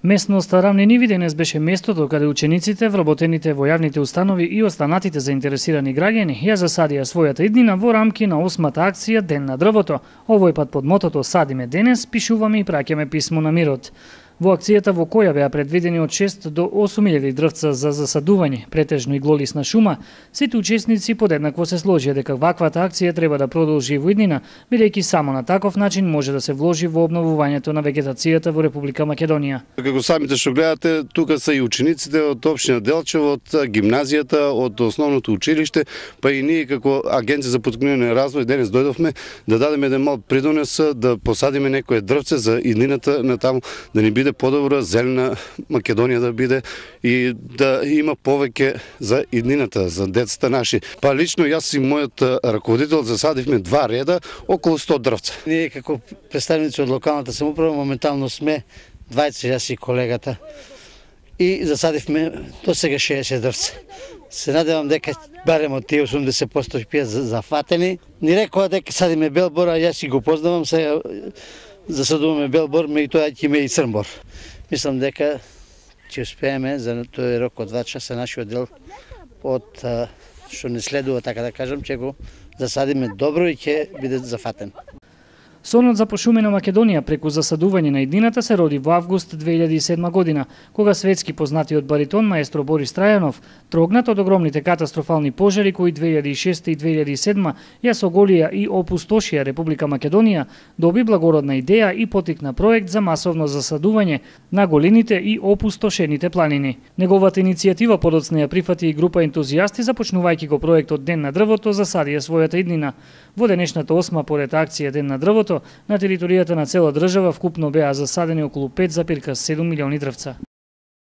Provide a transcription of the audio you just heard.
Местноста Рамнениви денес беше местото каде учениците, вработените во јавните установи и останатите заинтересирани граѓани ја засадија својата иднина во рамки на 8-та акција Ден на дрвото. Овој пат под мотото "Садиме денес, пишуваме и праќаме писмо на мирот". Во акцијата во која беа предвидени од 6 до 8.000 дрвца за засадување, претежно и глолисна шума, сите учесници подеднакво се сложија дека ваквата акција треба да продолжи во иднина, бидејќи само на таков начин може да се вложи во обновувањето на вегетацијата во Република Македонија. Како самите што гледате, тука се и учениците од општина Делчево, од гимназијата, од основното училиште, па и ние како Агенција за поттикнување на развој денес дојдовме да дадеме еден мал придонес, да посадиме некое дрвце за иднината на таму, да ни биде подобра, зелена Македонија да биде и да има повеќе за иднината, за децата наши. Па лично јас и мојот раководител засадивме 2 реда, околу 100 дрвца. Ние како представници од локалната самоуправа моментално сме 20, јас и колегата, и засадивме до сега 60 дрвца. Се надевам дека барем од тие 80% ќе бидат зафатени. Ни рекоа дека садиме белбор, а јас и го познавам, сега засадуваме белбор, и тоа ќе има и црнбор. Мислам дека ќе успееме за тој рок од 2 часа нашиот дел од што не следува, така да кажам, ќе го засадиме добро и ќе биде зафатен. Сонот за пошумена Македонија преку засадување на иднината се роди во август 2007 година, кога светски познатиот баритон маестро Борис Трајанов, трогнат од огромните катастрофални пожари кои 2006 и 2007 ја соголија и опустошија Република Македонија, доби благородна идеја и потикна проект за масовно засадување на голините и опустошените планини. Неговата иницијатива подоцна ја прифати и група ентузијасти, започнувајќи го проектот Ден на дрвото, засадија својата иднина. Во денешната 8-ма поред акција Ден на дрвото, на територијата на цела држава вкупно беа засадени околу 5,7 милиони дрвца.